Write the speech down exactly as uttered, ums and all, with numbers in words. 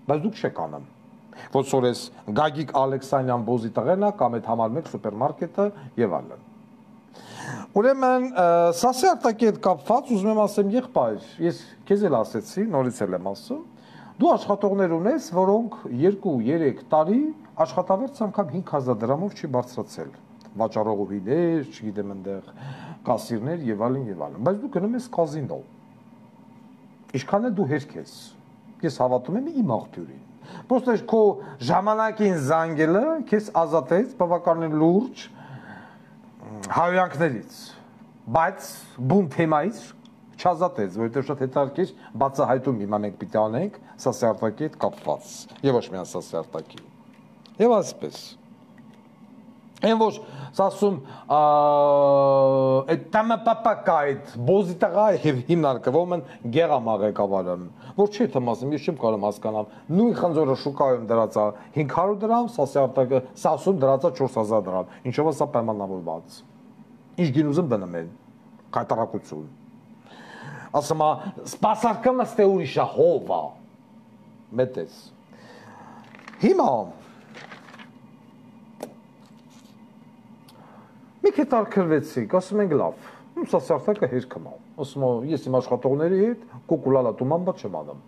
բայց դուք չեք անում։ Ոնց որ էս Գագիկ Ալեքսանյան բոզի տղենա կամ այդ համար մեկ սուպերմարկետը եւ այլն։ Ուրեմն սասի արտակի հետ կապված ուզում եմ ասեմ եղբայր, ես քեզ էլ ասեցի, նորից էլ եմ ասում, դու աշխատողներ ունես, որոնք երկու երեք տարի աշխատավարձ անգամ հինգ հազար դրամով չի բարձրացել։ Վաճառողուհիներ, չգիտեմ այնտեղ կասիրներ եւ այլն եւ այլն, բայց դու գնում ես կազինո։ Ինչքան է դու հերք ես։ Ես հավատում եմ իմ աղբյուրին։ Պրոստը քո ժամանակին զանգելը քեզ ազատեց բավականին լուրջ հայոյանքներից, բայց բուն թեմայից չազատեց, որովհետև շատ հետաքրքիր բացահայտում հիմա մենք պիտի անենք Սասի Արտակի հետ կապված, եւ ոչ միայն Սասի Արտակի։ Եվ այսպես։ Այն ոչ ասում այդ տամը պապակա այդ բոզի տղա եւ հիմնարկվում են գեղամա ղեկավարը, որ չի թեմ ասում, ես չեմ կարող հասկանալ, նույն խնձորը շուկայում դրածա հինգ հարյուր դրամ, Սասի Արտակը Սասում դրածա չորս հազար դրամ, ինչով է սա պայմանավորված։ Ինչ գին ուզում դնեմ են, կայտարակություն։ Ասում է, սպասարկումը ստե ուրիշ է, հովա, մետես։ Հիմա մի քիչ արկրվեցիք, ասում ենք լավ, Սասի Արտակը հերքում է, ասում է, ես իմ աշխատողների հետ կոկուլալա տուման բա չեմ անում։